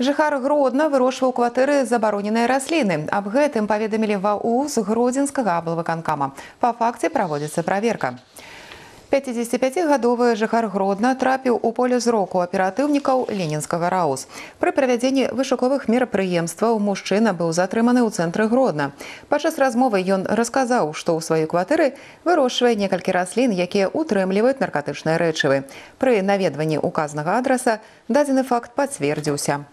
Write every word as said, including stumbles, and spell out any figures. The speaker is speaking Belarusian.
Жыхар Гродна вырошчваў у кватэры забароненыя расліны. Аб гэтым паведамілі ва УЗ Гродзенскага аблвыканкама. Па факце праводзіцца праверка. пяцідзесяціпяцігадовы жыхар Гродна трапіў у поле зроку аператыўнікаў ленінскага РАУЗ. Пры правядзенні вышуковых мерапрыемстваў мужчына быў затрыманы ў цэнтры Гродна. Падчас размовы ён расказаў, што ў сваёй кватэры вырошчвае некалькі раслін, якія утрымліваюць наркатычныя рэчывы. Пры наведванні указанага адраса дадзены факт пацвердзіўся.